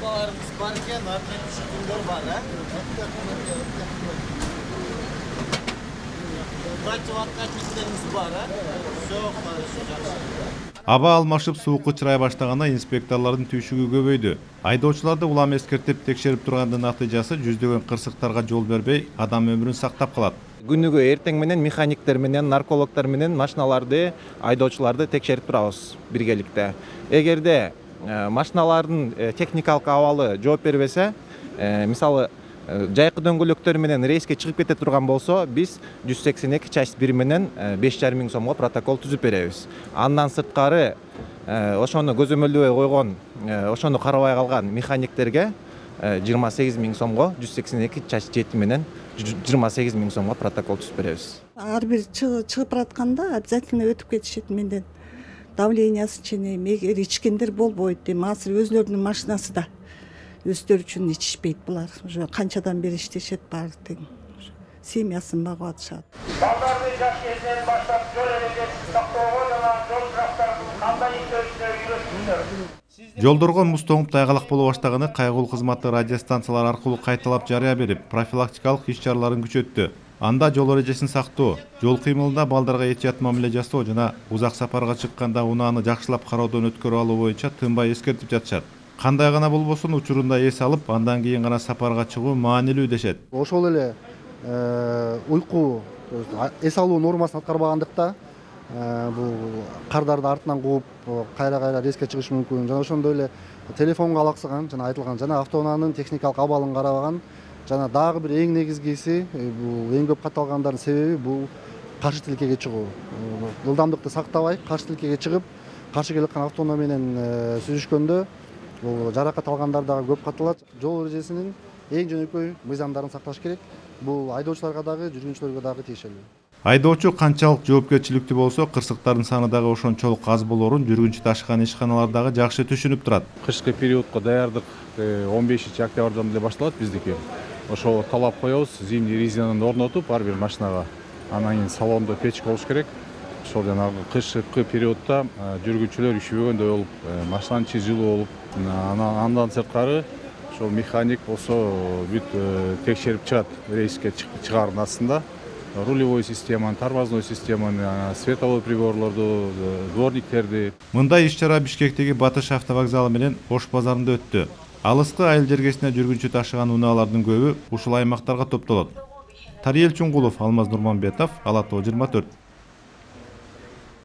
Arabalarımız varken artık düşkünler var ha. Kaç vakitlerimiz var ha. Çok karışacak. Аба алмашып суукка чырай баштаганда инспекторлордун түйшүгү көбөйдү. Айдоочуларды улам эскертип текшерип тургандын натыйжасы жүздөгөн кырсыктарга жол бербей, адам өмүрүн сактап калат. Күнүгө эртең менен механиктер менен, наркологдор менен машиналарды, айдоочуларды текшерип турабыз биргеликте. Эгерде машиналардын техникалык абалы жооп бербесе, мисалы жайкы дөңгөлөктөр менен рейске чыгып кете турган болсо, биз 182 часть 1 менен 5,5 миң сомго протокол түзүп беребиз. Андан сырткары ошону көзөмөлдөбөй койгон, ошону карабай калган механиктерге 28 миң сомго 182 часть 7 менен 28 миң сомго протокол түзүп беребиз. Ар бир чыгып баратканда обязательно өтүп кетишет менден. Давлениясын ченейм, эгер ичкендер болбойт дейм. Азыр өзлөрүнүн машинасы да. Өздөрү үчүн ичишпейт булар. Уже канчадан бери иштешет баары тең. Семьясын багып атышат. Балдарды жаш кезинен баштап жол эрежесин сактоого жана жол кырактарын кандай иштешине үйрөтүңүздөр. Жолдорго муз тоңуп тайгалак боло баштаганы кайгылуу кызматы радиостанциялар аркылуу кайталап жарыя берип, профилактикалык иш-чараларын күчөттү. Анда жол эрежесин сактоо, жол кыймылында балдарга этият мамиле жасоо жана узак сапарга чыкканда унааны жакшылап кароодон өткөрүп алуу боюнча тынбай эскертип жатышат. Кандай гана болбосун учурунда эс алып, андан кийин гана сапарга чыгуу маанилүү дешет. Ошол эле уйку эс алуу нормасын аткарбагандыкта бул кардарды артынан кууп, кайра рейске чыгыш мүмкүн. Жана ошондой эле телефонго алаксыган жана айтылган жана автоунаанын техникалык абалын карабаган. Жана дагы бир эң негизгиси, бул эң көп катталгандардын себеби бул каршы тилкеге чыгуу. Ылдамдыкты сактабай, каршы тилкеге чыгып, каршы келаткан автоунаа менен сүзүшкөндө бул жаракат алгандар дагы көп катталат. Жол эрежесинин эң жөнөкөй мыйзамдарын сакташ керек. Бул айдоочуларга дагы, жүргүнчүлөргө дагы тиешелүү. Айдоочу канчалык жоопкерчиликтүү болсо, кырсыктардын саны дагы ошончолук аз болорун жүргүнчү ташыган ишканалар дагы жакшы түшүнүп турат. Кышкы периодко даярдык 15-октябрдан эле башталат биздики. Ошо талап коебуз, зимний резинаны орнотуп ар бир машинага. Анан кийин салондо печка болуш керек. Ошол жанагы кышкы периодда жүргүнчүлөр üşүбөгөндөй болуп, машинанын ичи жылуу болуп, андан сырткары ошол механик болсо бүт текшерип чыгат рейске чыгаардын астында. Рулевой системаны, тормозной системаны, световой приборлорду, дворниктерди. Мындай иш-чара Бишкектеги Батыш автовокзалы менен Ош базарында өттү. Алыскы айыл жергесине жүргүнчү ташыган унаалардын көбү ушул аймактарга топтолот. Тариел Чуңгулов, Алмаз Нурманбетов, Ала Тоо 24.